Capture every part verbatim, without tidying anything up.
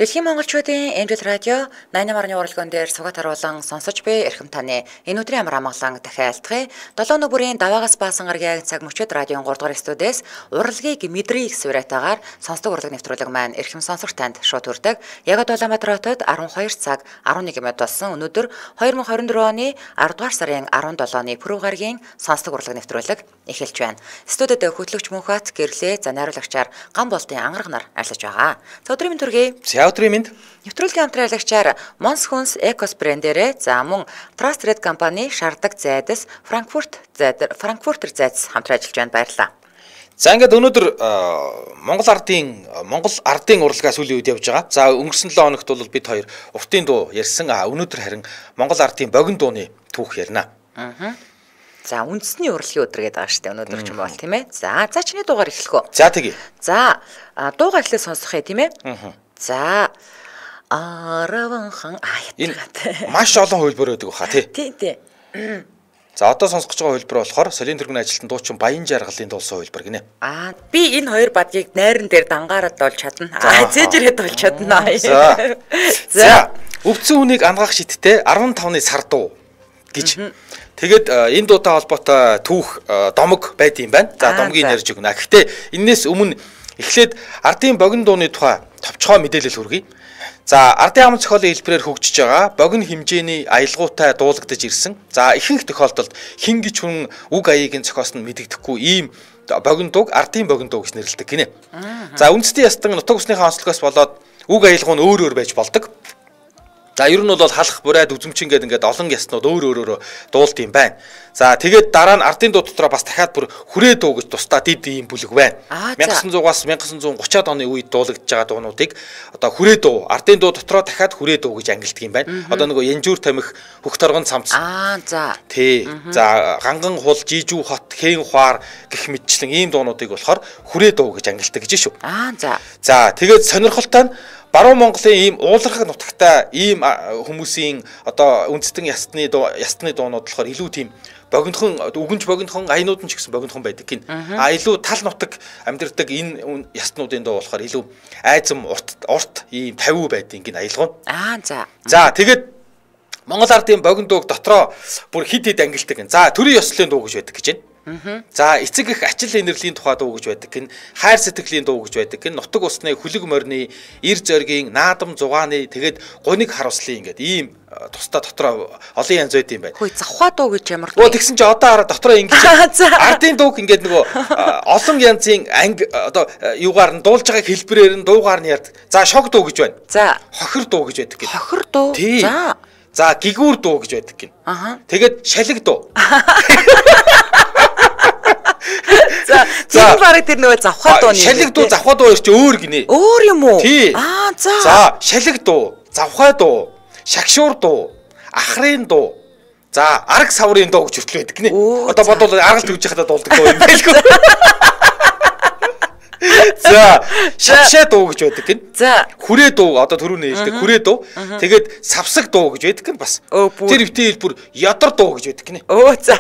Дэлхийн монголчуудын Эмдэл радио найман марны уралдаан дээр сугат харуулан сонсож буй эрхэм таны энэ өдрийн амар амгалан дахиалтгая долоо нүбүрийн даваагаас баасан гаргийн цаг мөчид радион гурав дахь студиэс уралгийг мэдрийг сураатаагаар сонсдог урлаг нэвтрүүлэг маань эрхэм сонсогч танд шууд хүрдэг. Яг Улаанбаатар хотод арван хоёр цаг арван нэг минут болсон. Өнөөдөр хоёр мың хорин дөрвөн оны аравдугаар сарын арван долооны пүрэв гаргийн сонсдог урлаг нэвтрүүлэг эхэлж байна. Студид хөтлөгч Мөнхбат гэрлээ за найруулагчаар ган болтын ангараг нар арилж байгаа. За өдрийн мэнд төргий. Өдрийн мэнд. Нэвтрүүлгийн хамтраалагчаар Mons Huns Ecos брэндээрээ за мөн Trust Red компани шаарддаг зайдас Франкфурт зайд Франкфуртер зайдас хамтран ажиллаж байна, баярлалаа. За ингээд өнөөдөр Монгол ардын Монгол ардын урлагаас үлийн үед явж байгаа. За өнгөрсөн долоо хоногт бол бид хоёр уртын дуу ярьсан. А өнөөдөр харин Монгол ардын богино дууны түүх ярина. Аа. За үндэсний урлагийн өдөр гэдэг байгаа шүү дээ өнөөдөр ч юм бол тийм ээ. За за чиний дуугаар эхлэх үү? За тэгье. За дуугаар эхлээ сонсох ээ тийм ээ. Аа. За араван аа ятгаад маш олон хөлбөр өгдөг баха тий. Тий тий. За одоо сонсох гэж байгаа хөлбөр болохоор Солийн тэргүүний ажилтан дуучин Баян жаргалын дуулсан хөлбөр гинэ. Аа би энэ хоёр бадгийг найран дээр дангаараад болж чадна. Аа зээжрээд болж чадна. За. За өвцөн хүнийг ангаах шиттэй арван тавны сар дуу гэж. Тэгээд энэ дуутай холбоотой түүх домог байд юм байна. За домгийг ярьж өгнө. Гэхдээ энэс өмнө эхлээд ардын богино дууны тухай товчхой мэдээлэл хүргэе. За ардын ам зохиолын хэлбэрээр хөгжиж байгаа богино хэмжээний аялгаутай дуулагдаж ирсэн. За ихэнх тохиолдолд хин гэж хүн үг аяыг нь зохиосон мэдэгдэхгүй ийм богино дууг ардын богино дуу гэж нэрлэдэг гинэ. За үндэсний ястан нутаг усныхаа онцлогоос болоод үг аялгау нь өөр өөр байж болдог. За ер нь бол халах бурайд үзмчин гэдэг ингээд олон яснууд өөр өөрөөр дуулт юм байна. За тэгээд дараа нь ардын дуу дотроо бас дахиад бүр хүрээ дуу гэж тусдаа дид ийм бүлэг байна. 천구 백угаас 천구 백삼십 оны үед дуулагдж байгаа дуунуудыг одоо хүрээ дуу, ардын дуу дотроо дахиад хүрээ дуу гэж ангилдаг юм байна. Одоо нөгөө янжуур тамхи, хөх торгон цамц. Аа за. Тий. За ганган хул, жижүү хот, хэн хуар гэх мэтчлэн ийм дуунуудыг болохоор хүрээ дуу гэж ангилдаг гэж шүү. Аа за. За тэгээд сонирхолтой нь Баруун Монголын ийм уулархаг нутагтай ийм хүмүүсийн одоо үндэстэн ястны ястны дуунууд болохоор илүү тийм богинохон үгэнж богинохон аянууд нь ч гэсэн богинохон байдаг гин. А илүү тал нутаг амьдардаг энэ ястнуудын дуу болохоор илүү айзам урт урт ийм тавиу байдаг гин аялгав. Аа за. За тэгээд Монгол ардын богино дууг дотроо бүр хид хид ангилдаг гин. За төрийн ёслолын дуу гэж байдаг гэж байна. За эцэг их ачил инэрлийн тухай дуу гэж байдаг гин, хайр сэтгэлийн дуу гэж байдаг гин, нутаг усны хүлэг морины, ир зоригийн, наадам зугааны тэгээд гуниг харуулслын ингээд ийм тусдаа дотроо олон янз байд юм байна. Хөөе завхаа дуу гэж ямар дуу. Оо тэгсэн чи одоо хараа дотроо ингэж ардын дууг ингээд нөгөө олон янзын анги одоо юугаар нь дуулж байгааг хэлбэрээр нь дуугаар нь ярьдаг. За шог дуу гэж байна. За хохир дуу гэж байдаг гин. Хохир дуу. За. За гигүүр дуу гэж байдаг гин. Аха. Тэгээд шалиг дуу. За тэр барыг тэр нөгөө завхаа дуу нэ. Шалиг дуу завхаа дуу чи өөр гинэ. Өөр юм уу? Аа за. За шалиг дуу, завхаа дуу, шагшуур дуу, ахрын дуу. За арга саврын дуу гэж хүртэл байдаг гинэ. Одоо бодвол аргалт хөвж хахад дуулдаг дуу юм байлгүй. За шагшаа дуу гэж байдаг гин. За хүрээ дуу одоо түрүүний хэлдэг хүрээ дуу. Тэгээд савсаг дуу гэж байдаг гин бас. Тэр битээ хэлбэр ядар дуу гэж байдаг гинэ. Өө за.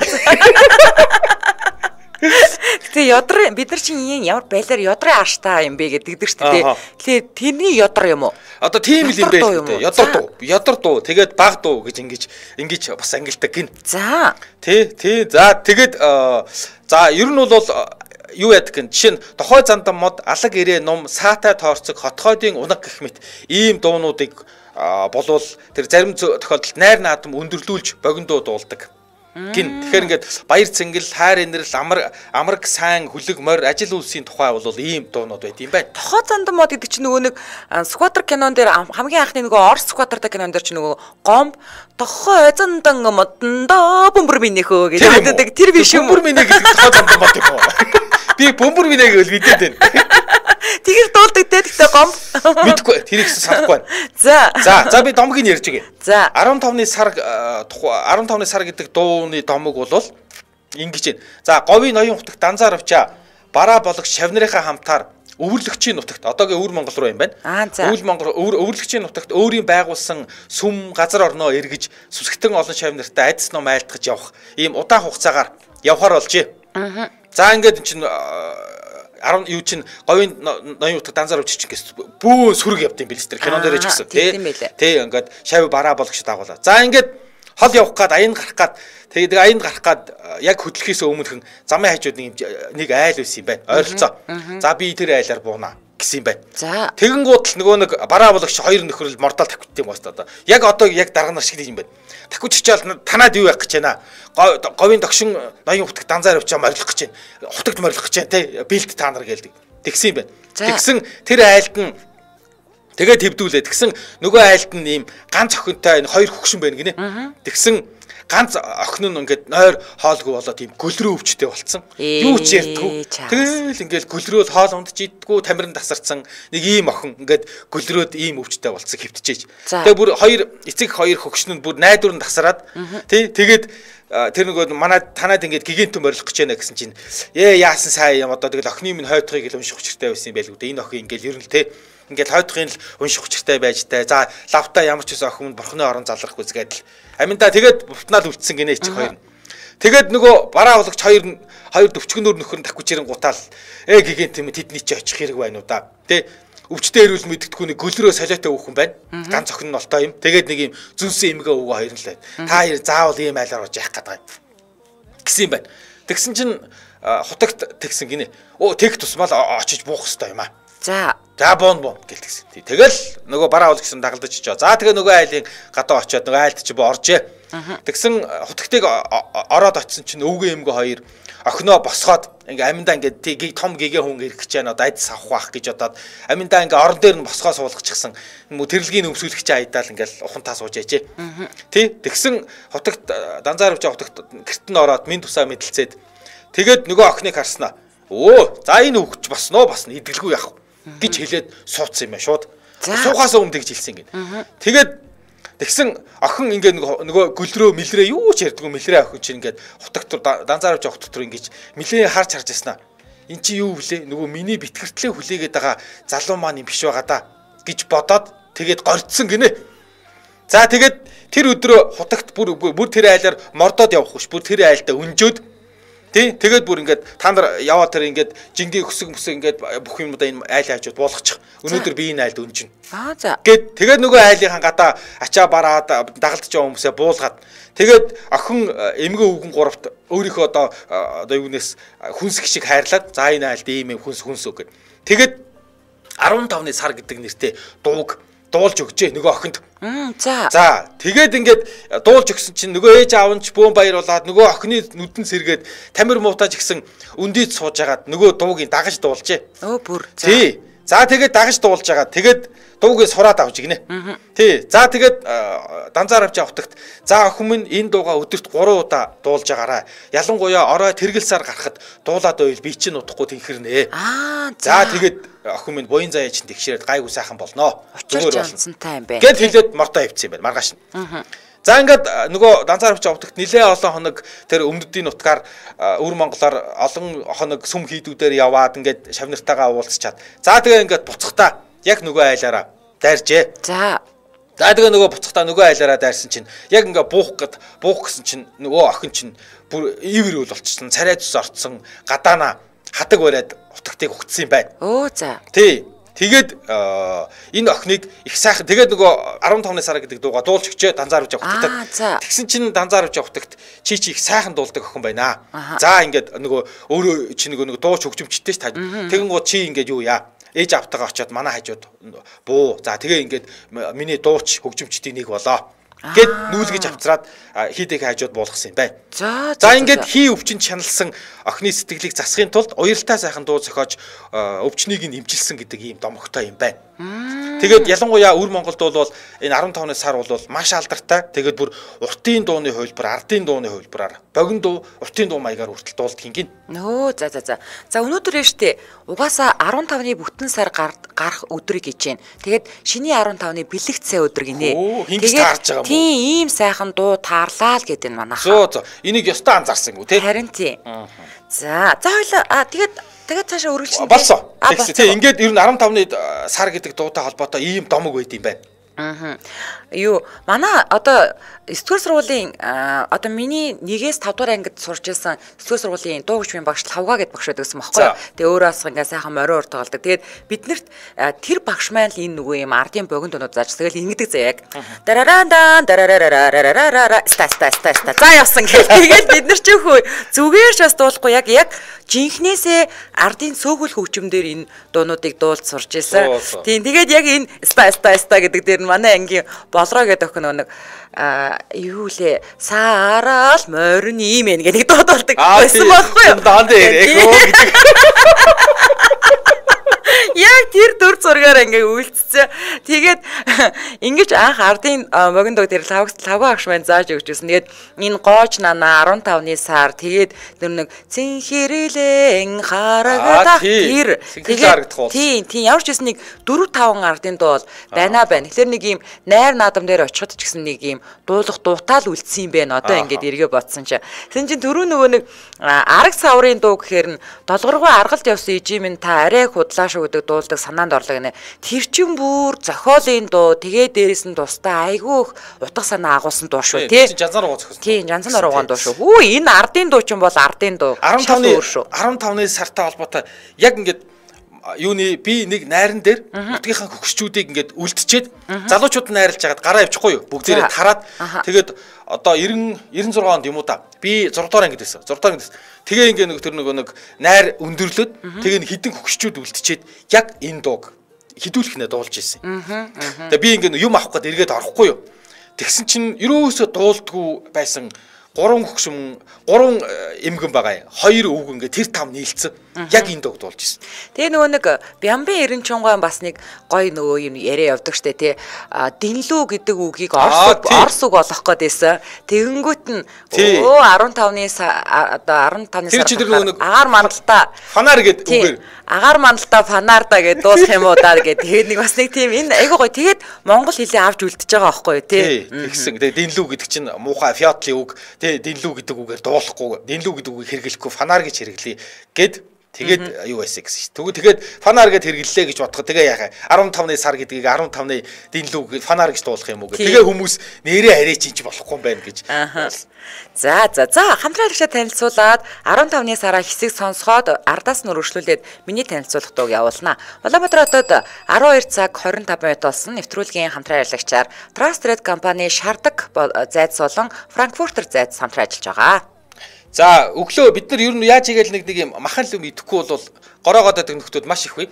Гэтэ ядар бид нар чинь ямар байлаар ядрын ааштай юм бэ гэдэг шүү дээ. Тэгэхээр тэрний ядар юм уу? Одоо тийм л юм байх үү? Ядар дуу. Ядар дуу. Тэгээд баг дуу гэж ингэж ингэж бас ангилдаг гин. За. Тий, тий. За тэгээд за ер нь бол юу яадаг гин жишээ нь тохой зандан мод алаг ирээ ном саатай тоорцог хотхойдын унаг гэх мэт ийм дуунуудыг болвол тэр зарим тохиолдолд найр наадам өндөрлүүлж богино дуу дуулдаг. Гин тэгэхээр ингээд баяр цэнгэл, хайр инэрл, амар амраг сайн, хүлэг морь, ажил үйлсийн тухай бол ийм дуунууд байд юм байна. Тохоо зандан мод гэдэг чинь нөгөө нэг скватер кинон дээр хамгийн анхны нөгөө Орос скватертай кинон дээр чинь нөгөө гомб тохоо зандан модондоо бөмбөр минийхөө гэж хэлдэг. Тэр биш юм. Бөмбөр миний гэдэг тохоо зандан мод юм уу? Би бөмбөр минийг л мэдээд байна. Тэгэр дуулдаг те гэхдээ гомб. Мэдгүй тэр ихс санахгүй байна. За. За за би домгийг ярьж өгье. За арван тавны сар арван тавны сар гэдэг дууны домог бол ингэж байна. За говийн ноён хутагт данзаар авчаа бараа болох шавнарынхаа хамтаар өвөрлөгчийн нутагт одоогийн өвөр Монгол руу юм байна. Өвөр Монгол өвөрлөгчийн нутагт өөрийн байгуулсан сүм газар орноо эргэж сүсгтэн олон шавнартай айдас ном айлтгаж явах ийм удаан хугацаагаар явхаар болжээ. За ингээд энэ чинь арав юу чин говийн ноён утга данзаар өвч чинь гэс бүү сүрэг явд юм бэл ч тэр кинон дээр ч гэсэн тий. Тий ингээд шав бараа болгоч дагуулаа. За ингээд хол явах гад аянд гарах гад тэгээд аянд гарах гад яг хөдлөхөөс өмнөхөн замын хажууд нэг нэг айл байсан юм байна. Ойролцоо. За би тэр айлаар буунаа гэсэн юм байна. За тэгэнгүүт л нөгөө нэг бараа болгоч хоёр нөхрөл мордол тавьт юм байна одоо. Яг одоо яг дараа нар шиг юм байна. Тахвч чичээл танаад юу явах гэж байна. Говийн догшин ноён утга данзаар авчаа морилох гэж байна. Хутагт морилох гэж байна те. Бэлд та нар гэлдэг. Тэгсэн юм байна. Тэгсэн тэр айлд нь тэгээд твдүүлээ. Тэгсэн нөгөө айлд нь ийм ганц охинтой энэ хоёр хөгшин байна гинэ. Тэгсэн ганц охин нь ингээд нойр хоолгүй болоод тийм гөлрөө өвчтэй болцсон. Юу ч ярьдгүй. Тэгэл ингээд гөлрөөл хоол ундж иддгүү тамирын тасарсан нэг ийм охин ингээд гөлрөөд ийм өвчтэй болцсон хэвтчихэж. Тэгээ бүр хоёр эцэг хоёр хөгшин нь бүр найдвар нь тасараад тий тэгээд тэр нөгөө манай танаад ингээд гигантэн морилох гэж байна гэсэн чинь ээ яасан сайн юм одоо тэгэл охины минь хойдохыг л унших учиртай байсан юм байл үү. Энэ охин ингээд ер нь тий ингээд хойдохын л унших учиртай байж таа. За лавта ямар ч байсан охин бурхны орон залрах үзгээд л аминда тэгээд бутнаал үлдсэн гинэ чи хоёр нь. Тэгээд нөгөө бараа болгоч хоёр нь хоёр өвчгөнөр нөхөр нь таквчирэн гутаал ээ гигэнт юм тэдний чи очих хэрэг байна уу да. Тэ өвчтэй ирүүл мэддэхгүй нэг гөлрөө солиотой өөхөн байна. Ганц охин нь олтой юм. Тэгээд нэг юм зүнсэн эмгээ өвгөө хоёр нь л байна. Та хоёр заавал ийм айлаар оож яах гэдэг юм. Гэсэн юм байна. Тэгсэн чинь хутагт тэгсэн гинэ. Оо тэг тусмал очиж буух хэрэгтэй юм аа. За За бон бон гэлтгсэн. Тэгэл нөгөө бараа болгосон дагалдаж чичээ. За тэгээ нөгөө айлын гадаа очиод нөгөө айлд чи бо оржээ. Тэгсэн хутагтыг ороод очисон чинь өвгөө эмгөө хоёр охиноо босгоод ингээ аминдаа ингээ тийг том гэгээ хүн ирэх гэж байна. Одоо айдас авах байх гэж бодоод аминдаа ингээ орон дээр нь босгоо суулгачихсан. Тэрэлгийн өмсүүлэгч айдаал ингээл ухантаа сууж яжээ. Тий тэгсэн хутагт данзаар өвч хутагт гэрт нь ороод минь тусаа мэдлцээд тэгээд нөгөө охиныг харснаа. Оо за энэ хөвч босноо басна идэлгүй яах гэж хэлээд суудсан юм ба шууд. Суухаас өмнө тэгж хэлсэн гин. Тэгээд тэгсэн охин ингээ нөгөө гөлрөө мэлрээ юу ч ярьдгүй мэлрээ охин чинь ингээд хутагтур данзаар авч хутагтур ингэж мэлээ харж харж яснаа. Эн чи юу вүлээ? Нөгөө миний битгэртлээ хүлээгээд байгаа залуу маань юм биш байгаа да гэж бодоод тэгээд горцсон гинэ. За тэгээд тэр өдрөө хутагт бүр бүр тэр айлаар мордоод явах биш. Бүр тэр айлдаа өнжөөд тий тэгээд бүр ингээд та нар яваа тэр ингээд жингийн өсөг мөсөг ингээд бүх юмудаа энэ айл хажууд буулгачих. Өнөөдөр би энэ айлд өнжин. Аа за. Гэт тэгээд нөгөө айлынхаа гадаа ачаа бараад дагалдаж байгаа хүмүүсээ буулгаад тэгээд охин эмгэн өвгөн гуравт өөрийнхөө одоо одоо юунаас хүнсг шиг хайрлаад за энэ айлд ийм юм хүнс хүнс үг гэд. Тэгээд арван тавны сар гэдэг нэртэй дууг дуулж өгчээ нөгөө охинд. За. За тэгээд ингээд дуулж өгсөн чинь нөгөө ээж аав нь ч бөөн баяр болоод нөгөө охины нүдэн сэргээд тамир муутаж гисэн өндийд сууж агаад нөгөө дуугийг дагаж дуулжээ. Өө бүр. Тий. За тэгээд дагаж дуулж агаад тэгээд дуугийг сураад авч игнэ. Тий. За тэгээд данзаар авч явахтагт за охин минь энэ дууга өдөрт гурван удаа дуулж агаарай. Ялангуяа орой тэргэл сар гарахад дуулаад байвал би чинь удахгүй тэнхэрнэ. Аа за тэгээд охин минь буян заяа чинь тэгшээд гайгүй сайхан болноо. Зүгээр болсонтай юм бэ. Гэт хэлээд мордоо авчихсан юм байна маргааш нь. За ингээд нөгөө данзаар авч явахтагт нилээ олон хоног тэр өмнөдийн нутгаар өвөр Монголоор олон хоног сүм хийдүүдээр яваад ингээд шавнартайгаа уулзчаад. За тэгээ ингээд буцахтаа яг нөгөө айлаараа дайржээ. За. За тэгээ нөгөө буцахтаа нөгөө айлаараа дайрсан чинь яг ингээд буух гэд буух гэсэн чинь нөгөө охин чинь бүр ивэр үл болчихсон. Царай зүс орцсон гадаана хадаг бариад утгатыг угтсан юм байна. Өө за. Тий. Тэгээд энэ охиныг их сайхан тэгээд нөгөө арван тавны сар гэдэг дууга дуулж өгчээ данзаар авч явахтагт. Тэгсэн чинь данзаар авч явахтагт чи чи их сайхан дуулдаг охин байна. За ингээд нөгөө өөрөө чи нөгөө дууч хөгжимчтэй ш та. Тэгэн гоо чи ингээд юу яа. Ээж автагаа очиод манай хажууд буу. За тэгээ ингээд миний дууч хөгжимчдийн нэг болоо. Гэт нүүлгэж авцраад хийдэг хажууд буулгасан юм байна. За за ингээд хий өвчнөд чаналсан охины сэтгэлийг засахын тулд уяралтай сайхан дуу зохиож өвчнийг нь имжилсэн гэдэг ийм домогтой юм байна. Тэгээд ялангуяа өвөр Монголд бол энэ арван тавны сар бол маш алдартай. Тэгээд бүр уртын дууны хувилбар, ардын дууны хувилбараар богино дуу, уртын дуу маягаар хүртэл дуулдаг юм гин. Нөө за за за. За өнөөдөр штэ угаасаа арван тавны бүтэн сар гарах өдрийг гэж байна. Тэгээд шиний арван тавны бэлэгт сая өдөр гинэ. Тэгээд тийм ийм сайхан дуу таарлаа л гэдэг нь манайхаа. Зөө зөө. Энийг ёстой анзаарсан гүү те. Харин тийм. За за хоёлаа а тэгээд тэгээд цаашаа өргөлжин. Болсон. Тэгсэн. Тэг ингээд ер нь арван тавны сар гэдэг дуутай холбоотой ийм домог байд юм байна. Аа. Юу манай одоо сэтгүүр сургуулийн одоо миний нэгээс тав дугаар ангид сурч байсан сэтгүүр сургуулийн дуу хөгжмийн багш Лавга гэд багш байдаг гэсэн байхгүй юу. Тэгээ өөрөө бас ингээ сайхан морин урт тоглодог. Тэгээд биднэрт тэр багш маань л энэ нөгөө юм ардын богино дунууд зааж тэгэл ингэдэг заяаг. Дарараан дарарарарарарарара ста ста ста ста за явсан гэх. Тэгээд бид нар ч хөө зүгээрч бас дуулахгүй яг яг жинхнээсээ ардын цөөхөл хөгжмөөр энэ дуунуудыг дуулж сурч байсан. Тийм тэгээд яг энэ ста ста ста гэдэг дээр манай ангийн болроо гэдэг охин нэг юу лээ саараал морин ийм ээ гэдэг дууд болдог байсан байхгүй юу? Даанд эко гэдэг. Яг тэр дүр зургаар ингээ үйлцсэн. Тэгээд ингэж анх ардын богино дуу дээр лавг лавга агш маань зааж өгч байсан. Тэгээд энэ гооч нана арван тавны сар тэгээд тэр нэг цэнхэрэлэн харагадах тэр тэгээд тийм тийм ямар ч гэсэн нэг дөрв таван ардын дуу бол байна байна. Тэгэхээр нэг юм найр наадам дээр очиход ч гэсэн нэг юм дуулах дуутаал үлдсэн юм байна. Одоо ингээд эргээ бодсон чи. Тэгсэн чинь түрүү нөгөө нэг арга саврын дуу гэхээр нь долгоргоо аргалд явсан ижимэн та арай худлаа шүү гэдэг дуулдаг санаанд орлоо гинэ. Тэр чин бүр зохиолын дуу тэгээ дээрэс нь тустай айгүй их утга санаа агуулсан дуу шүү тий. Жанзан руугаа зохиосон. Тийм жанзан руугаан дуу шүү. Хүү энэ ардын дуу чин бол ардын дуу. арван тавны арван тавны сартай холбоотой яг ингээд юуны би нэг найран дээр нутгийнхаа хөгшчүүдийг ингээд үлдчихэд залуучууд найрлаж хагаад гараа явчихгүй юу бүгдээрээ тараад тэгээд одоо девяносто шесть онд юм уу да би зураг дугаар ангид байсан зураг дугаар ангид тэгээ ингээд нэг тэр нөгөө нэг найр өндөрлөд тэгээ хідэн хөгшчүүд үлдчихэд яг энэ дууг хідүүлэх нэ дуулж ирсэн. Тэгээ би ингээд юм авах гээд эргээд орохгүй юу тэгсэн чинь ерөөсөө дуулдгүй байсан гурван хөгшин гурван эмгэн байгаа. Хоёр өвг ингээ тэр тав нийлцэн. Яг энэ дууг дуулж ирсэн. Тэгээ нөгөө нэг Бямбын Эренчунгой бас нэг гой нөгөө юм яриа явдаг штэ тий. Динлүү гэдэг үгийг орс орс үг болох гээд байсан. Тэгэнгүүт нь өө арван тавны одоо арван тавны сар агаар мандалтаа фанаар гэдэг үгээр агаар мандалтаа фанаарда гэдэг дуусах юм уу даа гэдэг. Тэгээд нэг бас нэг тийм энэ айгуу гоё. Тэгээд монгол хэлээ авч үлдчихэж байгаа байхгүй юу тий. Тэгсэн. Тэгээ динлүү гэдэг чинь муухай фиатлын үг. Тэгээ динлүү гэдэг үгээр дуулахгүй. Динлүү гэдэг үгийг хэрэглэхгүй фанаар гэж хэрэглэе гэд тэгээд юу байсан гэсэн шүү. Тэгээд фанаар гэж хэрэглэлээ гэж бодоход тэгээ яхаа арван тавны сар гэдгийг арван тавны динлүү фанаар гэж дуулах юм уу гэх. Тэгээ хүмүүс нэрээ арай чинч болохгүй юм байна гэж. За за за хамтраалагчаа танилцуулаад арван тавны сараа хэсэг сонсоход ардаас нь өргөжлүүлээд миний танилцуулах дууг явуулнаа. Улаанбаатар хотод арван хоёр цаг хорин тавь минут болсон нэвтрүүлгийн хамтраалагчаар Trusted компани шардаг зайц болон Frankfurter зайц хамтран ажиллаж байгаа. За өглөө бид нар ер нь яаж игээл нэг нэг юм махан л юм идэхгүй бол гороогоод байдаг нөхдүүд маш их бай.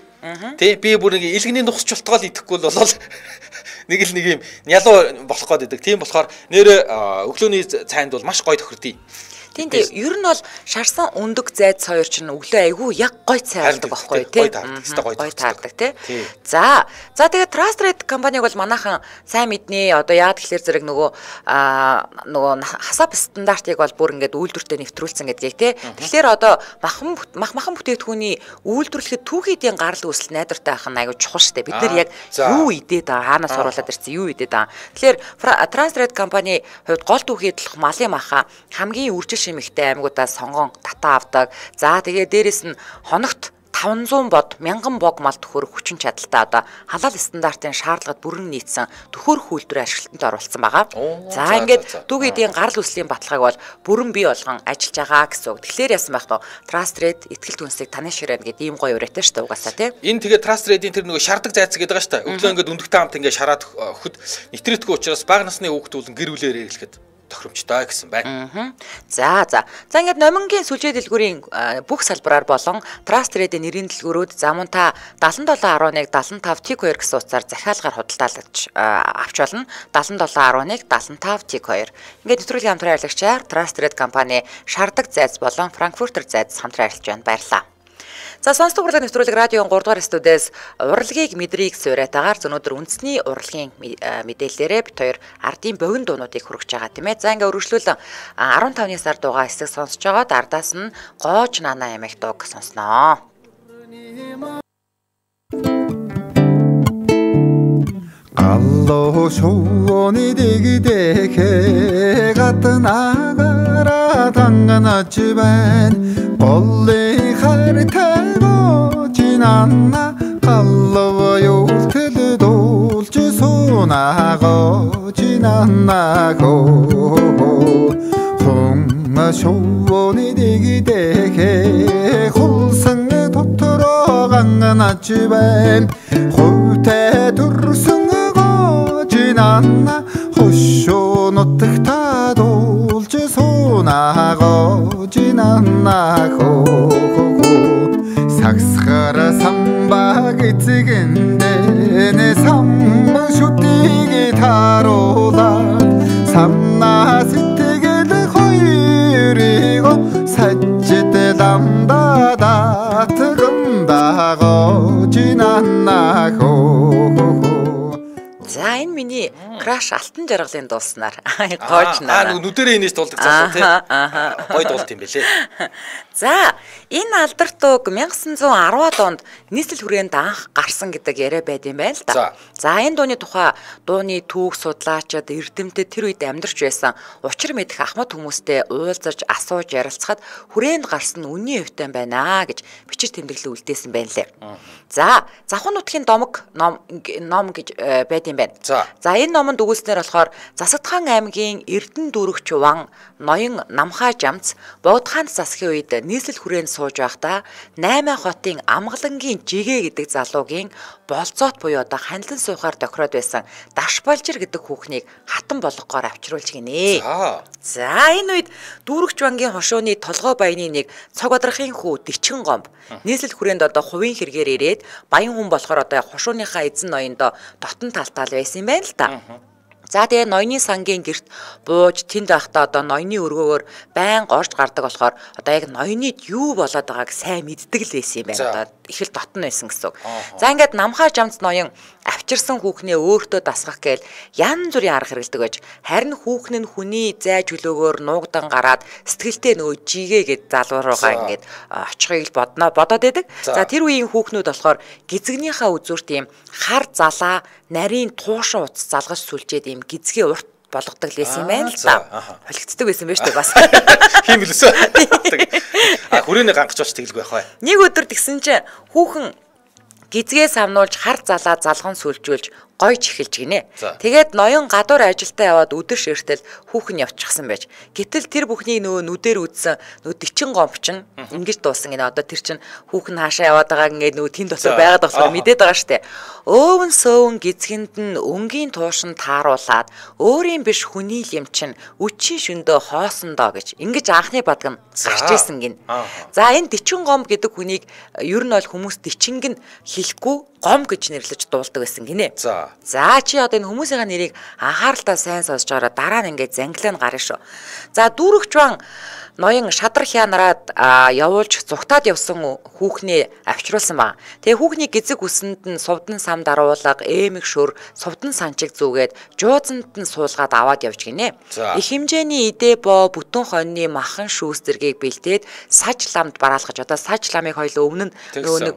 Тэ би бүр нэг илгэний нухс чултгаал идэхгүй бол нэг л нэг юм нялуу болох гээд байдаг. Тийм болохоор нэр өглөөний цайнд бол маш гоё тохирдъя. Тийм тийм ер нь бол шарсан өндөг зайд хоёр ч нь өглөө айгүй яг гой цайрдаг байхгүй тий. Гой таардаг тий. За за тэгээд Trusted компаниг бол манайхан сайн мэднэ. Одоо яад гэхэлэр зэрэг нөгөө нөгөө хасап стандартыг бол бүр ингээд үйлдвэртээ нэвтрүүлсэн гэдгийг тий. Тэгэхээр одоо махан мах махан бүтээгдэхүүний үйлдвэрлэхэд түүхийдийн гарал үүсэл найдвартай байх нь айгүй чухал штэ. Бид нар яг юу идээд байгаа хаанаас оруулаад ирсэн юу идээд байгаа. Тэгэхээр Trusted компани хувьд гол түүхийдлэх малын маха хамгийн үржил шимэгтэй аймагуудаас сонгон татаа авдаг. За тэгээ дээрэс нь хоногт таванзуун бод мянган бог мал төхөөрөх хүчин чадалтай одоо халаал стандартын шаардлагад бүрэн нийцсэн төхөөрөх үйлдвэрийн ашиглалтанд оруулсан байгаа. За ингээд түүхийдийн гарал үүслийн баталгааг бол бүрэн бий болгон ажиллаж байгаа гэсэн үг. Тэгэхээр яасан байх вэ? Trusted итгэл түнсийг таны ширэн гэдэг ийм гоё ураатай шүү дээ угаасаа тий. Энэ тэгээд Trusted-ийн тэр нөгөө шардаг зайцаг гэдэг байгаа шүү дээ. Өглөө ингээд өндөгтэй хамт ингээд шараад өгөхөд нэвтрээдгүй учраас бага насны хүүхдүүд гэр бүлээр хэрэглэхэд тохиромжтой гэсэн байна. За за. За ингээд номингийн сүлжээ дэлгүүрийн бүх салбараар болон Trusted-ийн нэрийн дэлгүүрүүд замун та даалан долоо арван нэг даалан тав тэг хоёр гэсэн утсаар захиалгаар худалдаалж авч болно. даалан долоо арван нэг даалан тав тэг хоёр. Ингээд нэвтрүүлгийн хамтран ажиллагчаар Trusted компани шардаг зайц болон Frankfurter зайц хамтран ажиллаж байна. Баярлалаа. За сонсдог урлагийн нэвтрүүлэг радион гурав дугаар студиэс урлагийг мэдрийг суурайтаагаар өнөөдөр үндэсний урлагийн мэдээллээрээ бит хоёр ардын богино дуунуудыг хүргэж байгаа тийм ээ. За ингээ өргөжлүүлэн арван тавны сар дуугаа хэсэг сонсож байгаад ардаас нь гоож нана ямиг дууг сонсноо. Алло шууны дэгдэхэ гаднаагаараа танганаач байна. Голлын хартайгоо чинанна галлоо юултэл дуулж суу 소나고 지나나고 홍아 쇼원이 되기 되게 홀승 도토로 강간아 집엔 홀태 두르승고 지나나 호쇼 노뜩다 돌지 소나고 지나나고 삭스가라 삼박이 찍은데 내 삼만 쇼띠기 타로다 삼나시띠기를 호이리고 사지때 담다다 뜨금다고 지났나고 За энэ миний краш алтан жаргалын дууснаар гоож наа. Аа нүдэрээ инээс дуулдаг цаасан тий. Гой дуулт юм бэлээ. За энэ алдарт үг мянга девятьсот десятууд онд нийслэл хүрээнд анх гарсан гэдэг яриа байд юм байна л да. За энэ дууны тухай дууны түүх судлаачид эрдэмтэд тэр үед амьдарч байсан учир мэдэх ахмад хүмүүстэй уулзаж асууж ярилцахад хүрээнд гарсан үнний эвтэн байна гэж бичиж тэмдэглэл үлдээсэн байна лээ. За завхан нутгийн домог ном ном гэж байд юм байна. За энэ номонд өгүүлснээр болохоор Засагдхан аймгийн Эрдэнэ дүүрэгч Ван ноён Намхай Жамц Богдхаан засгийн үед нийслэл хүрээнд сууж байхдаа найман хотын Амгалангийн Жигэ гэдэг залуугийн болцоот буюу одоо ханилан суухаар тохироод байсан Дашбалжир гэдэг хүүхнийг хатан болгохоор авчруулж гинэ. За энэ үед дүүрэгч Вангийн хошууны толгой баяны нэг цог бадрахын хүү Дичгэн гомб нийслэл хүрээнд одоо хувийн хэрэгээр ирээд баян хүн болохоор одоо хошууныхаа эзэн ноёндоо дотн талтаал байсан юм байна л да. За тэгээ ноёны сангийн герт бууж тэнд байхдаа одоо ноёны өргөөгөр байн горж гардаг болохоор одоо яг ноёнyd юу болоод байгааг сайн мэддэг л байсан юм байна. Одоо их л дотн байсан гэсэн. За ингээд Намхай Жамц ноён авчирсан хүүхнээ өөртөө дасгах гээл янз бүрийн арга хэрэгэлдэг байж харин хүүхэн нь хүний зай чөлөөгөөр нуугдан гараад сэтгэлтэй нөгөө жигээ гэд залуу руугаа ингээд очихыг бодноо бодоод байдаг. За тэр үеийн хүүхнүүд болохоор гизгнийхаа үзүүр тийм хар залаа нарийн туушин утас залгаж сүлжээд ийм гизгээ урт болгодог лээсэн юм байна л да. Холигддаг байсан байж тээ бас. Хийм билээсэ. А хүрээний гангаж болж тэгэлгүй байх бай. Нэг өдөр тэгсэн чинь хүүхэн гизгээ самнуулж хар залаа залган сүлжүүлж гойж эхэлж гинэ. Тэгээд ноён гадуур ажилдаа яваад өдөр ширтэл хүүхэн явчихсан байж. Гэтэл тэр бүхний нөгөө нүдээр үзсэн нөгөө Дичгэн гомб чинь ингэж дуусан гинэ. Одоо тэр чинь хүүхэн хаашаа яваад байгааг ингээд нөгөө тэн дотор байгаад болохоор мэдээд байгаа штэ. Өвөн сөөвн гизгэнд нь өнгийн туушин тааруулаад өөрийн биш хүний юм чинь үчийн шөндөө хоосондоо гэж ингэж анхны бадг нь гарч ирсэн гин. За энэ Дичгэн гомб гэдэг хүнийг ер нь бол хүмүүс Дичинг нь хэлэхгүй гом гэж нэрлэж дуулдаг байсан гинэ. За. За чи одоо энэ хүмүүсийн нэрийг анхааралтай сайн сонсож байгаараа дараа нь ингээд зангилаа гарна шүү. За дүүрэгч Ван ноён шадар хянараад явуулж зүгтаад явсан хүүхнээ авчруулсан баг. Тэгээ хүүхний гизэг үсэнд нь сувдан сам даруулга, эмэг шөр, сувдан санчиг зүгээд жуузанд нь суулгаад аваад явж гинэ. Их хэмжээний идэ боо бүтэн хоньны махан шүүс зэргийг бэлдээд саж ламд бараалгаж одоо саж ламыг хоёул өмнө нь нөгөө нэг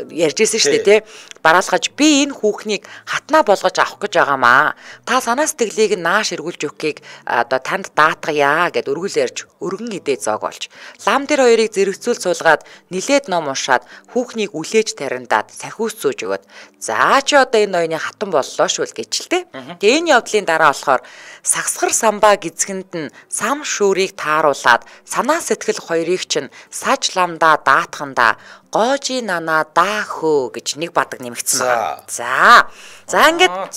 ярьжсэн шүү дээ тий. Бараалгаж би энэ хүүхнийг хатнаа болгож авах гэж байгаамаа. Та санаа сэтгэлийг нааш эргүүлж өгөхийг одоо танд даатгая гэд өргүүлээрж өргөн идээ зоог болж лам дээр хоёрыг зэрэгцүүл суулгаад нилээд ном уншаад хүүхнийг үлээж тарандаад сахиус зөөж өгöd. За чи одоо энэ ноёны хатан боллоо шүүл гэж л тий. Тэгээ энэ явдлын дараа болохоор сагсгар самбаа гизгэнд нь сам шүүрийг тааруулаад санаа сэтгэл хоёрыг чинь саж ламдаа даатхандаа гоожи нана даахөө гэж нэг бадаг нэмэгдсэн байна. За. За ингээд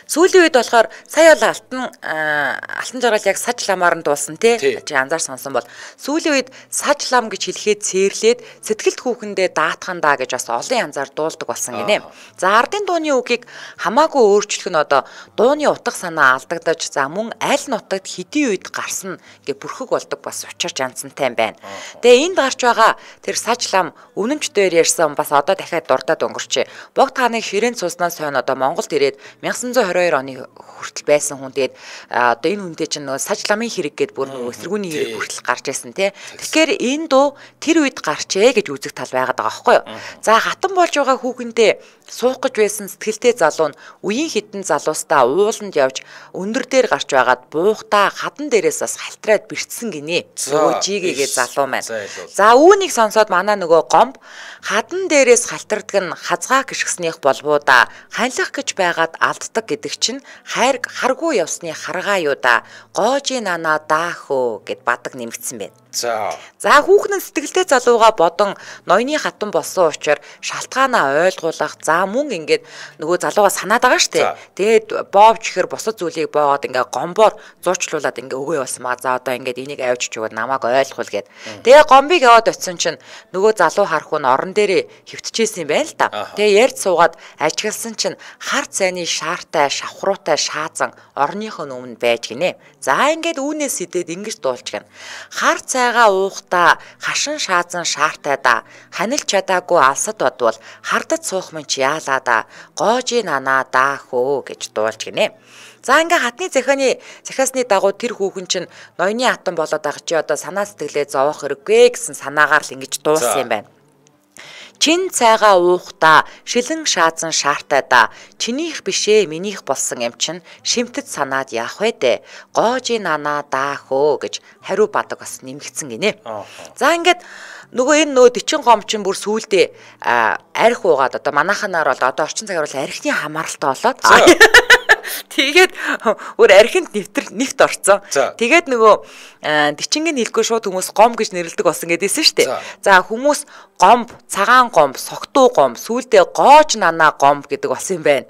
сүүлийн үед болохоор сая бол алтан алтан жаргал яг саж ламаар нь дуулсан тий. Чи анзаар сонсон бол сүүлийн үед саж лам гэж хэлэхэд цээрлээд сэтгэлд хүүхэндээ даатхандаа гэж бас олон янзаар дуулдаг болсон гинэ. За ардын дууны үгийг хамаагүй өөрчлөх нь одоо дууны утга санаа алдагдаж за мөн аль нутагт хэдийн үед гарсан гэ бүрхэг болдог бас учир жанцантай байна. Тэгээ энд гарч байгаа тэр саж лам өмнөмч дээр ярьсан бас одоо дахиад дурдаад өнгөрчээ. Богд хааны ширээнд цуснаас хойно одоо Монголд ирээд найман хоёр оны хүртэл байсан хүн. Тэгээд одоо энэ хүнтэй чинь нөгөө саж ламын хэрэг гээд бүр нөгөө эсэргүүний хэрэг хүртэл гарч ирсэн тий. Тэгэхээр энэ дуу тэр үед гарчээ гэж үзэх тал байгаад байгаа байхгүй юу. За хатан болж байгаа хүүхэндээ суух гэж байсан сэтгэлтэй залуу нь үеийн хитэн залуустаа ууланд явж өндөр дээр гарч байгаад буухтаа хадан дээрээс бас халтраад бэртсэн гинэ. Нөгөө жигээгээ залуу маань. За үүнийг сонсоод манай нөгөө гомб хадан дээрээс халтардаг нь хазгаа гიშгснийх болбоо да ханилах гэж байгаад алддаг гэдэг чинь хайр харгүй явсны харгаа юу да гоожи нана даахөө гэд бадаг нэмэгдсэн байна. За. За хүүхэн сэтгэлтэй залууга бодон ноёны хатан болсон учраас шалтгаанаа ойлгуулах. За мөн ингээд нөгөө залууга санаад байгаа штэ. Тэгээд боовч ихэр босод зүйлийг боогод ингээ гомбоор зуучлуулад ингээ өгөө явсан маа. За одоо ингээд энийг авчиж өгөөд намайг ойлгуул гэд. Тэгээ гомбыг яваад очисон чинь нөгөө залуу харах нь орон дээрээ хөвтчихсэн юм байна л да. Тэгээ ярьж суугаад ажигласан чинь харт сайны шаартай шавхруутай шаазан орныхоо өмнө байж гинэ. За ингээд үүнээс идээд ингэж дуулж гэн. Харт цайгаа уухта хашин шаазан шаартай да ханилж чадаагүй алсад бодвол хардад суух мэн чи яалаа да гоожи нана даахөө гэж дуулж гинэ. За ингээ хатны захианы захиасны дагуу тэр хүүхэн чинь ноёны хатан болоод байгаа чи одоо санаа сэтгэлээ зовоох хэрэггүй гэсэн санаагаар л ингэж дуулсан юм байна. Чин цайгаа уухта шилэн шаазан шаартай да чинийх бишээ минийх болсон юм чин шимтэд санаад яах вэ дээ гоожи нана даахөө гэж хариу бадаг бас нэмэгдсэн гинэ. За ингээд нөгөө энэ нөгөө дэчин гом чин бүр сүулдэ арх уугаад одоо манайханаар бол одоо орчин цагаар бол архины хамааралтай болоод тэгээд өөр архинд нэвтэр нэвт орцсон. Тэгээд нөгөө дичингийн хэлгүй шууд хүмүүс гом гэж нэрлэдэг болсон гэдээсэн шүү дээ. За хүмүүс гомб, цагаан гомб, согтуу гомб, сүүлдээ гоож нана гомб гэдэг болсон юм байна.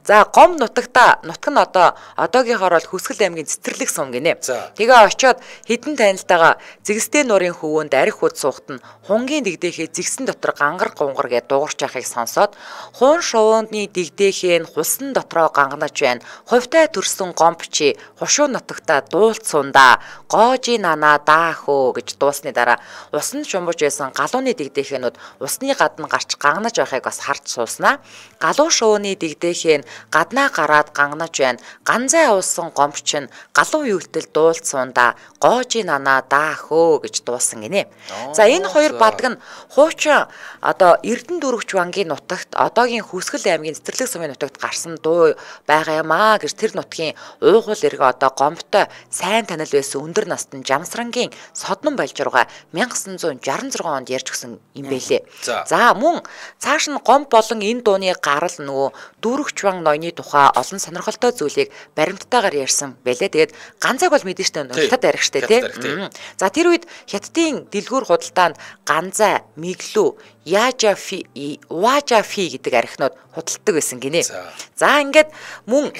За гомб нутагта нутаг нь одоо одоогийнхоор бол Хүсгэл аймгийн Цэцэрлэг сум гинэ. Тэгээ очиод хідэн танилтайгаа зэгстэй нуурын хөвөөнд арх хууд суухт нь хунгийн дэгдээхээ зэгсэн дотор гангар гунгар гэж дуугарч яхахыг сонсоод хуун шувууны дэгдээхээ нь хусан дотроо ганганаж байна. Хувьтай төрсөн гомбчи хушуу нутагта дуулцсундаа гоожи нана даахөө гэж дуусны дараа усанд шумбаж байсан галууны дэгдээхэнүүд усны гадна гарч гангнаж байхыг бас харж сууснаа. Галуу шувууны дэгдээхэн гаднаа гараад гангнаж байна. Ганзай уусан гомбч нь галуу юултэл дуулцсундаа гоожи нана даахөө гэж дуусан гинэ. За энэ хоёр бадаг нь хуучин одоо Эрдэнэ дүүрэгч бангийн нутагт одоогийн Хүсгэл аймгийн Цэцэрлэг сумын нутагт гарсан дуу байгаа маа гэж тэр нутгийн уугуул эргэ одоо гомбтой сайн танил байсан өндөр настан Жамсрангийн Соднон Балжиргаа 천аа девятьсот шестьдесят шесть онд ярьж гисэн юм бэлээ. За мөн цааш нь гомб болон энэ дууны гарал нөгөө дүүрэгч банк ноёны тухай олон сонирхолтой зүйлийг баримттайгаар ярьсан бэлээ. Тэгээд ганцайг бол мэдэн штэ хятад арих штэ тий. За тэр үед хятадын дэлгүүр худалдаанд ганзай, миглүү, яажафи, важафи гэдэг архинууд худалдаг байсан гинэ. За ингээд мөн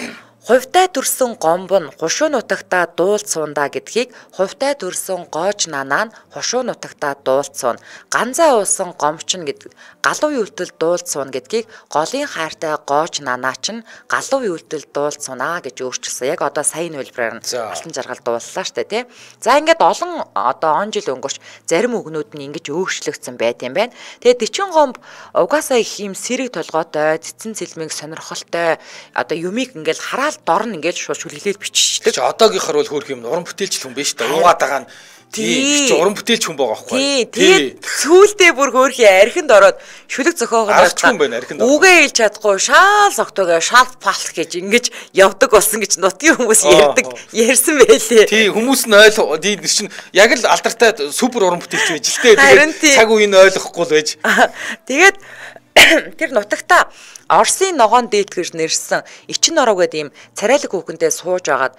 хувьтай төрсөн гомб нь хушуу нутагта дуулцсундаа гэдгийг хувьтай төрсөн гоож нанаа нь хушуу нутагта дуулцсуун ганзай уусан гомч нь гэдэг галуу юултэл дуулцсуун гэдгийг голын хайртай гоож нанаа чинь галуу юултэл дуулцсунаа гэж өөрчилсөн. Яг одоо сайн үйлбэрээр нь алтан жаргал дууллаа штэ тий. За ингээд олон одоо он жил өнгөрч зарим үгнүүд нь ингэж өөрчлөгдсөн байт юм байна. Тэгээд дэчин гомб угаасаа их юм сэрэг толгойтой, цэцэн цэлмэг сонирхолтой одоо юмыг ингээд хараад дор нь ингээд шууд шүлгэлээд биччихдэг. Чи одоогийнхор бол хөөх юм уран бүтээлч хүн биш та уугаад байгаа нь тий чи уран бүтээлч хүн байгаа байхгүй. Тий. Сүүлдээ бүр хөөхий архинд ороод шүлэг зохиогоод арчгүй юм байна архинд. Үгээ хэлж чадахгүй шаал согтойгоо шаал палх гэж ингэж явдаг болсон гэж нутгийн хүмүүс ярьдаг ярьсан байлээ. Тий хүмүүс нь ойл тий чинь яг л алдартай супер уран бүтээлч байж л тээ. Тэгээд цаг үеийг ойлгохгүй л байж. Тэгээд тэр нутагта Орсын ногоон дээд гэж нэрсэн Ичин нороо гэдэг ийм царайлаг хүүхэндээ сууж агаад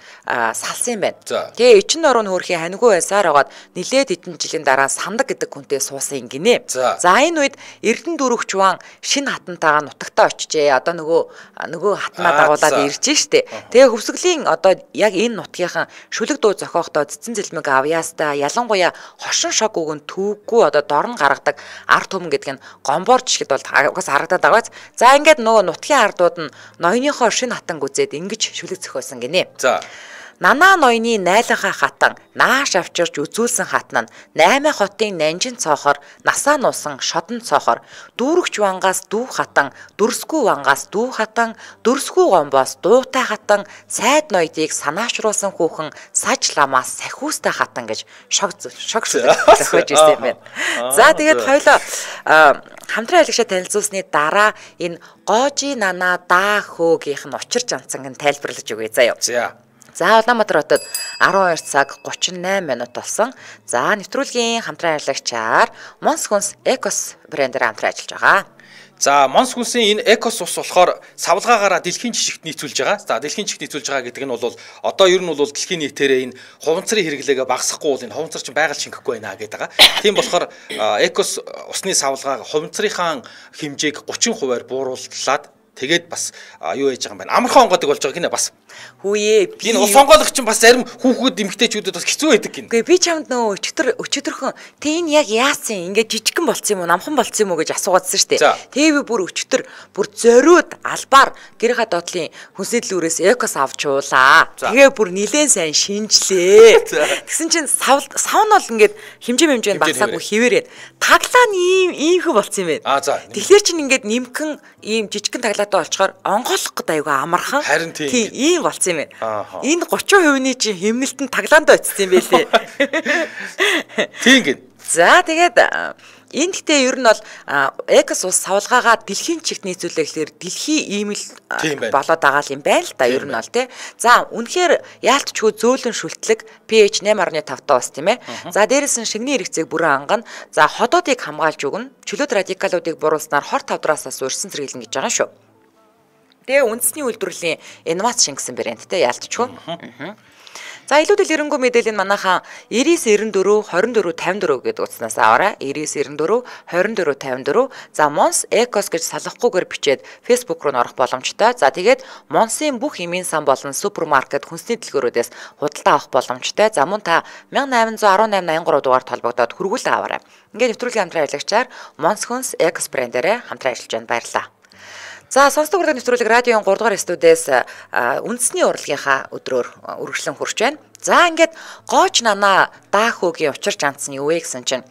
салсан юм байна. Тэгээ Ичин нороо нь хөрхий ханьгүй байсаар агаад нилээд хэдэн жилийн дараа сандаг гэдэг хүнтэй суусан гинэ. За энэ үед Эрдэнэ дүүрэгч ван шинэ хатантайгаа нутагтаа очижээ. Одоо нөгөө нөгөө хатнаа дагуулад ирж штэ. Тэгээ хөвсгөлийн одоо яг энэ нутгийнхан шүлэг дуу зохиохдоо цэцэн цэлмэг авьяастай ялангуяа хошин шог өгөн түүггүй одоо дорн гаргадаг арт түмэн гэдэг нь гомбоор жишгэд бол угаас харагдаад байгаа. За ингээд нөгөө нутгийн ардууд нь ноёныхоо шинэ хатанг үзээд ингэж шүлэг зохиосон гинэ. За Нанаа ноёны найланхаа хатан нааш авчирч үзүүлсэн хатан нь наймаа хотын нанжин цоохор насаа нуусан шодон цоохор дүүрэгч вангаас дүү хатан дүрсгүй вангаас дүү хатан дүрсгүй гомбоос дуутай хатан сайд ноёдыг санаачруулсан хүүхэн саж ламаас сахиустай хатан гэж шог шог зохиож ирсэн юм байна. За тэгээд хоёлоо хамтран айлгшаа танилцуулсны дараа энэ гоожи нана даа хөөгийнх нь учир жанцанг нь тайлбарлаж өгье заяа. За. За Улаанбаатар хотод арван хоёр цаг гучин найман минут болсон. За нэвтрүүлгийн хамтран ажиллагчаар Монс хүнс Экос брэндээр хамтран ажиллаж байгаа. За Монс хүнсийн энэ Экос ус болохоор савлгаагаараа дэлхийн жишгт нийцүүлж байгаа. За дэлхийн жишгт нийцүүлж байгаа гэдэг нь бол одоо ер нь бол дэлхийн нийтээрээ энэ хуванцрын хэрэглээгээ багасгахгүй бол энэ хуванцар чинь байгаль шингэхгүй байна гэдэг байгаа. Тийм болохоор Экос усны савлгааг хуванцрынхаа хэмжээг гучин хувиар буурууллаад тэгээд бас юу яаж байгаа юм бэ? Амархан онгодог болж байгаа гинэ бас. Хүүе. Энэ ус онгоолох чинь бас зарим хүүхэд эмэгтэйчүүдэд бас хэцүү байдаг гин. Үгүй би чамд нөө өчтөр өчтөрхөн тэ энэ яг яасан ингээд жижигхэн болцсон юм уу, намхан болцсон юм уу гэж асуугаадсан шүү дээ. Тэгээ би бүр өчтөр бүр зориуд албаар гэрийнхаа доотлын хүнсний дэлгүүрээс Экос авч уулаа. Тэгээ бүр нилээн сайн шинжлээ. Тэгсэн чинь сав сав нь бол ингээд хэмжээ хэмжээнд багсаагүй хിവэрээд таглаа нь ийм иймхэн болцсон юм байна. Тэгэхээр чинь ингээд нимкэн ийм жижигхэн таглаатай болчоор онгоолох гэдэг аюугаа амархан. Тийм ийм болцсон юм байна. Энэ гучин хувийн чинь хэмнэлтэн таглаанд очсон юм байлээ. Тийм гин. За тэгээд энэ гэхдээ ер нь бол Экос ус савлгаагаа дэлхийн чигт нийцүүлээ гэхээр дэлхийн иймэл болоод байгаа юм байна л да ер нь бол тий. За үнэхээр яалтчгүй зөөлөн шүлтлэг pH eight point five таа ус тийм ээ. За дээрээс нь шигний хэрэгцээг бүрэн ангана. За ходоодыг хамгаалж өгнө. Чөлөөт радикалуудыг буруулснаар хор тавдраасаас урьсан зэрэглэн гэж байгаа шүү. Тэгээ үндэсний үйлдвэрлэлийн инновац шингэсэн брэндтэй яалтчгүй. За илүү дэлгэрэнгүй мэдээлэл нь манайхаа ninety-nine twenty-four fifty-four гэдэг утаснаас аваарай. ninety-nine twenty-four twenty-four fifty-four. За Монс Экос гэж салахгүйгээр бичээд Facebook руу орох боломжтой. За тэгээд Монсын бүх эмийн сан болон супермаркет хүнсний дэлгүүрүүдээс худалдаа авах боломжтой. За мөн та eighteen eighteen eighty-three дугаар толбогдоод хүргүүлээ аваарай. Ингээд нэвтрүүлгийн хамтран ажиллагчаар Монс хүнс Экос брэндээрээ хамтран ажиллаж байна. Баярлалаа. За сонсдог урлагийн нэвтрүүлэг радиогийн three дугаар студиэс үндэсний урлагийнхаа өдрөөр үргэлжлэн хурж байна. За ингээд гоож нана даа хөөгийн учир жанц нь юу вэ гэсэн чинь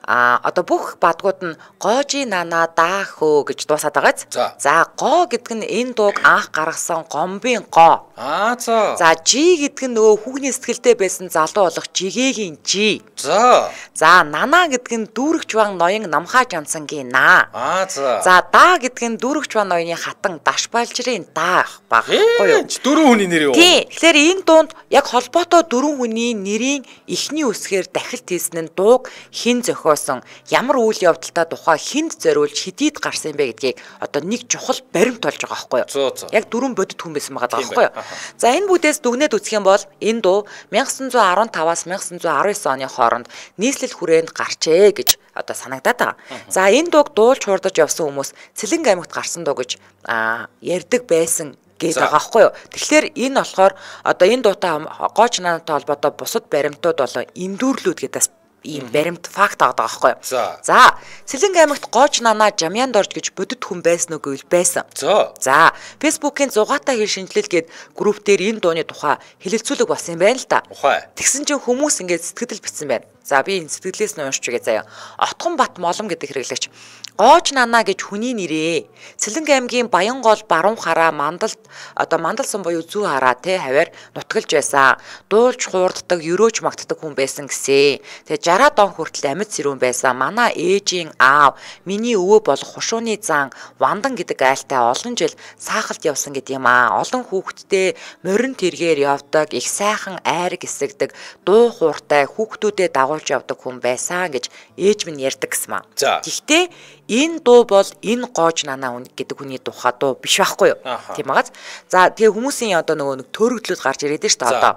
а одоо бүх бадгууд нь гоожи нана даа хөө гэж дуусаад байгааз. За гоо гэдэг нь энэ дууг анх гаргасан гомбын гоо. Аа за. За жи гэдэг нь нөгөө хүүхний сэтгэлдээ байсан залуу болох жигээгийн жи. За. За нана гэдэг нь дүүрэгч ван ноён намхаа жанцангийн наа. Аа за. За даа гэдэг нь дүүрэгч ван ноёны хатан дашбалжрын даа багхгүй юу? Дөрвөн хүний нэр юу? Тийм. Тэгэхээр энэ дуунд яг холбоотой дөрвөн хүний нэрийн эхний үсгээр дахилт хийсэн нь дууг хэн зохиосон, ямар үйл явдалтай тухай хэнд зориулж хэдийд гарсан бэ гэдгийг одоо нэг чухал баримт болж байгаа байхгүй юу? Яг дөрвөн бодит хүн байсан байгаа байхгүй юу? За энэ бүдээс дүгнээд үзэх юм бол энэ дуу nineteen fifteen-аас nineteen nineteen оны хооронд нийслэл хүрээнд гарчээ гэж одоо санагдаад байгаа. За энэ дууг дуулж хурдаж явсан хүмүүс Цэлэнг аймагт гарсан дуу гэж ярьдаг байсан гэдэг байгаа байхгүй юу. Тэгэхээр энэ болохоор одоо энэ дуутай гоож нанатай холбоотой бусад баримтууд болон эндүүрлүүд гэдээс ийм баримт факт байгаа байхгүй юу. За Цэлэнг аймагт гоож нана Жамьянд орж гэж бодит хүн байсан уу гэвэл байсан. За Facebook-ийн зугаатай хэл шинжилэл гээд групп дээр энэ дууны тухай хэлэлцүүлэг болсон юм байна л да. Тэгсэн чинь хүмүүс ингээд сэтгэл бичсэн байна. За би энэ сэтгэлээс нь уншиж үгээ заяа. Отгон Бат Молом гэдэг хэрэглэгч гоож нана гэж хүний нэрээ. Цэлэнг аймгийн Баянгол баруун хараа мандалд одоо мандалсан буюу зүү хараа те хаваар нутгалж байсан. Дуулж хуурддаг, өрөөж магтдаг хүн байсан гэсэн. Тэгээ сixty он хүртэл амьд сэрүүн байсан. Манай ээжийн аав, миний өвөө болох хушууны зан Вандан гэдэг айлтай олон жил саахалт явсан гэдэг юм аа. Олон хүүхэдтэй морин тэргээр явдаг, их сайхан айр гисэгдэг, дуу хууртай хүүхдүүдэд дагуулж явдаг хүн байсан гэж ээж минь ярьдаг гэсэн маа. Гэхдээ энэ дуу бол энэ гоож нана гэдэг хүний тухай дуу биш байхгүй юу? Тийм багаз. За тэгээ хүмүүсийн одоо нөгөө нэг төрөгдлүүд гарч ирээд шүү дээ одоо.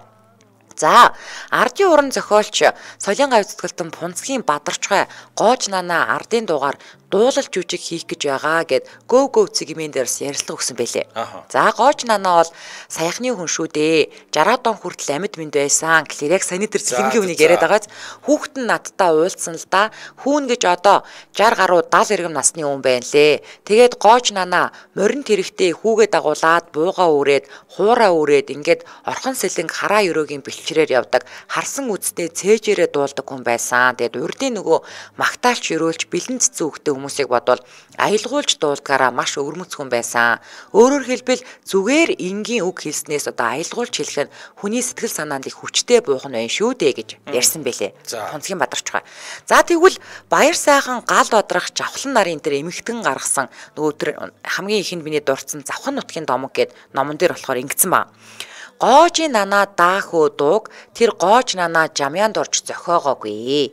За ардын уран зохиолч Солингай үзэтгэлтэн Пунцгийн Бадарчгай гоож нана ардын дуугаар дуулал жүжиг хийх гэж байгаа гэд гөв гөв цэгмэн дээрс ярилцлага өгсөн байлээ. За Гоож Нана бол саяхны хүн шүү дээ. жараад он хүртэл амьд мэнд байсан гэхлээр яг саяны тэр цэлэнгийн үнийг яриад байгааз хүүхэд нь надтай уулзсан л да. Хүүн гэж одоо жаргал гаруй даал иргэм насны хүн байна лээ. Тэгээд Гоож Нана морин тэрэгтэй хүүгээ дагуулад бууга үрээд хуураа үрээд ингээд орхон сэлэнг хараа өрөөгийн бэлчрээр явдаг харсан үсттэй цээжээрээ дуулдаг хүн байсан. Тэгээд урдын нөгөө магтаалч өрөөлж бэлэн цэцэн хөхтэй хүмүүсийг бодвол аялгуулж дуулдгаараа маш өвөрмөц хүн байсан. Өөрөөр хэлбэл зүгээр энгийн үг хэлснээс одоо аялгуулж хэлэх нь хүний сэтгэл санаанд их хүчтэй буух нь байна шүү дээ гэж ярьсан байлээ. Тонцгийн Бадарчгаа. За тэгвэл баяр сайхан гал бодрах жавхлан нарын тэр эмэгтэн гаргасан нөгөө тэр хамгийн ихэнд миний дурдсан завхан нутгийн домог гэд номон дээр болохоор ингэсэн ба. Гоож Нана даахөө дууг тэр Гоож Нана жамяанд орж зохиогоогүй.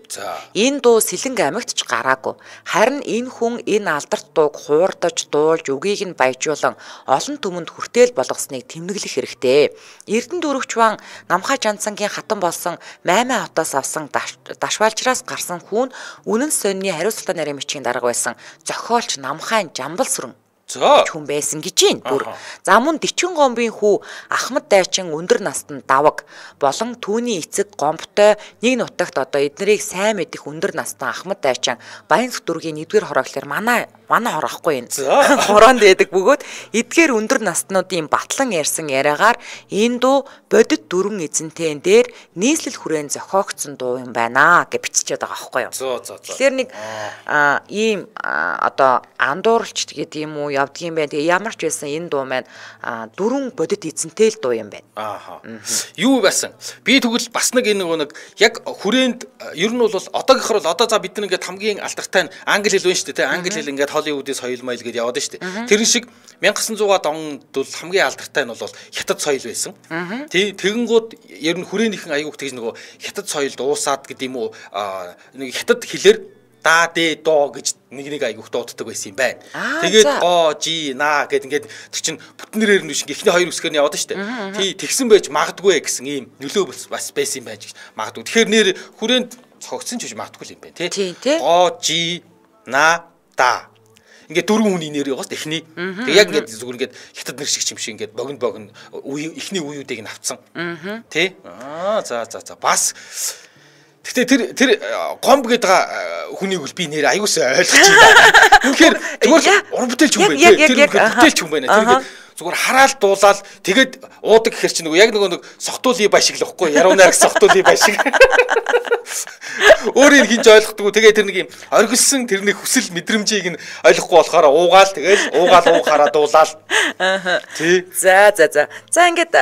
Энэ дуу Сэлэнг аймагт ч гараагүй. Харин энэ хүн энэ алдарт дууг хуурдаж дуулж үгийг нь баяжуулан олон түмэнд хүртэл болгосныг тэмдэглэх хэрэгтэй. Эрдэнэ дөрөвчван Намхай Жанцангийн хатан болсон Маймай хотоос авсан дашвалжраас гарсан хүн үнэн сонины хариуцлага нарийн мичгийн дарга байсан зохиолч Намхайн Жамбал сүрэн хүн байсан гэж байна. Бүр. За мөн Дичгэн гомбын хүү Ахмад дайчин өндөр настанд даваг болон түүний эцэг гомбтой нэг нутагт одоо эднэрийг сайн мэдих өндөр настан Ахмад дайчин Баянск дүүргийн нэгдүгээр хорооглохлоор манай манай хорохгүй юм. Хороонд байдаг бөгөөд эдгээр өндөр настнуудын батлан ярьсан яриагаар энэ дуу бодит дөрвөн эзэнтэн дээр нийслэл хүрээн зохиогдсон дуу юм байна гэж биччихээд байгаа байхгүй юу. Тэгэхээр нэг ийм одоо андууралч гэдэг юм уу явдгийн байна. Тэгээ ямар ч байсан энэ дуу маань дөрвөн бодит эзэнтэй л дуу юм байна. Аа. Юу байсан? Би тэгвэл бас нэг энэ нэг яг хүрээнд ер нь бол одоогийнхор бол одоо за бид нар ингээд хамгийн алдартай нь англи хэл байна шүү дээ. Англи хэл ингээд Холливуудын соёл майл гэдээ яваад шүү дээ. Тэр шиг 천구 백ад онд бол хамгийн алдартай нь бол хятад соёл байсан. Тэг тэгэнгүүт ер нь хүрээнийхэн аягүй тэгж нөгөө хятад соёлд уусаад гэдэг юм уу нэг хятад хэлээр да дэ до гэж нэг нэг аягүй дууддаг байсан юм байна. Тэгээд о жи на гэд ингээд тэр чин бүтнэрээр нь биш ихний хоёр үсгээр нь яваад шүү дээ. Тий тэгсэн байж магадгүй гэсэн ийм нөлөө бас байсан юм байж магадгүй. Тэгэхээр нэр хүрээнд цогцсон ч биш магадгүй юм байна тий. О жи на да ингээд дөрвөн хүний нэр яваас эхний. Тэг яг ингээд зүгээр ингээд хятад нэр шиг юм шиг ингээд богино богино эхний үеүүдийг нь авцсан. Тэ? Аа за за за бас Гэтэ тэр тэр гомб гэдэг хүнийг бол би нэр аюусаа ойлгож байна. Үнэхээр зүгээр уран бүтээлч хүн байна. Тэр бүтээлч хүн байна. Тэр ингээд зүгээр хараал дуулаад тэгээд уудаг гэхэр чи нөгөө яг нөгөө нэг сохтуулын бай шиг л واخгүй яруу найраг сохтуулын бай шиг. Өөрийг хинж ойлгохгүй тэгээд тэр нэг юм оргилсан тэрний хүсэл мэдрэмжийг нь ойлгохгүй болохоор уугаал тэгээд уугаал уухаараа дуулаад. Тий. За за за. За ингээд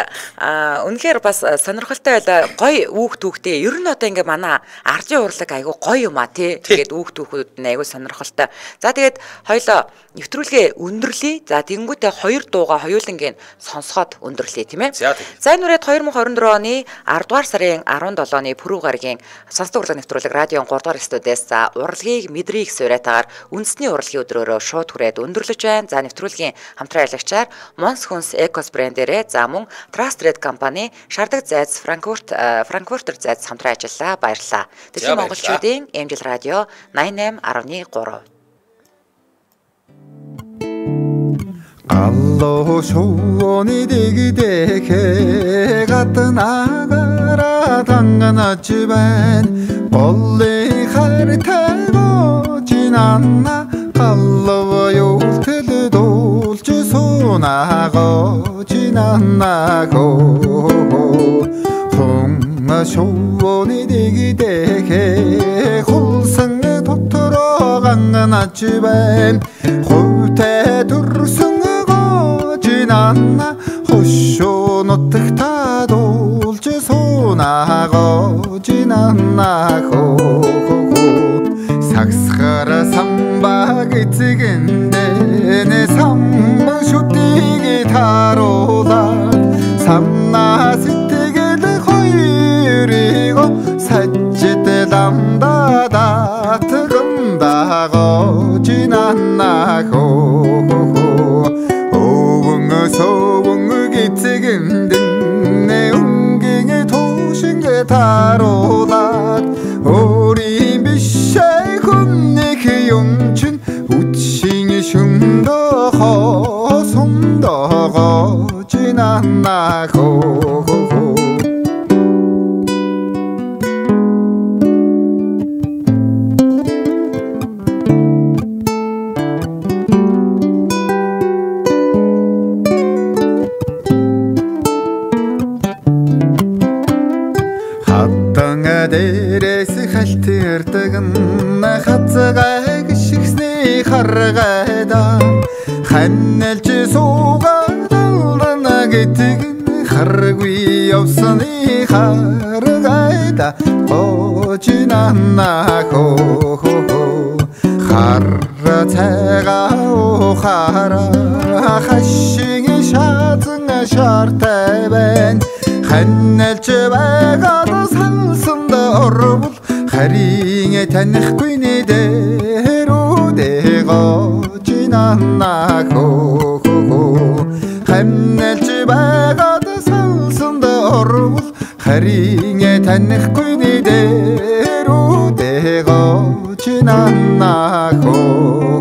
үнэхээр бас сонирхолтой байлаа. Гой үүх түүхтэй. Ер нь одоо ингээд манай ардын урлаг айгу гоё юм а тий. Тэгээд үүх түүхүүд нь айгу сонирхолтой. За тэгээд хоёлоо нэвтрүүлгээ өндөрлөе. За тэгэнгүүтээ хоёр дууга хоёулангийн сонсоход өндөрлөе тийм ээ. За энэ үрээд две тысячи двадцать two оны ардугаар сарын seventh-ны пүрэв гарагийн сонсдог урлаг нэвтрүүлэг радион three дугаар студиэс за урлагийг мэдрийг суурайтаагаар үндэсний урлагийн өдрөөрөө шууд хүрээд өндөрлөж байна. За нэвтрүүлгийн хамтран аялагчаар Mons Huns Ecos брэндээрээ за мөн Trust Red компани Шардаг зайц Франкфурт Франкфуртер зайц хамтран ажиллаа. Баярлалаа. Дэлхийн монголчуудын Эмжил радио ninety-eight point three Алло шууны дэгдэхэ гаднаагаараа танганаач байна голлын хартайго жинанна алло юултэл дуулж суунаго жинаннаго хонга шууны дэгдэхэ хулсан дотороо ганганаач байна хувьтай төрсөн Nana hosho notagta dolce sonago jinanna ho sagskhara samba gitsgende ne samma shutigi tarola samna sitegel khoyrigo sajjete damdada tgumdago jinanna ho 소봉을 기특은든 내 웅갱의 도신게 다로다 우리 미샤의 군내 그 용춘 хосондоо жинана хоо дээрээс халтирдаг хацгай гიშгсний харгайда ханналж суугаад алрана гэдэг харгүй явсны харгайда очинана хоо харра цайгаа хара хашиг шаазан шартай байна ханналж байгаад сансан орвол харин танихгүй нэ дэрүүдээ гожинана хоо ханналж байгаад сансан орвол харин танихгүй нэ дэрүүдээ гожинана хоо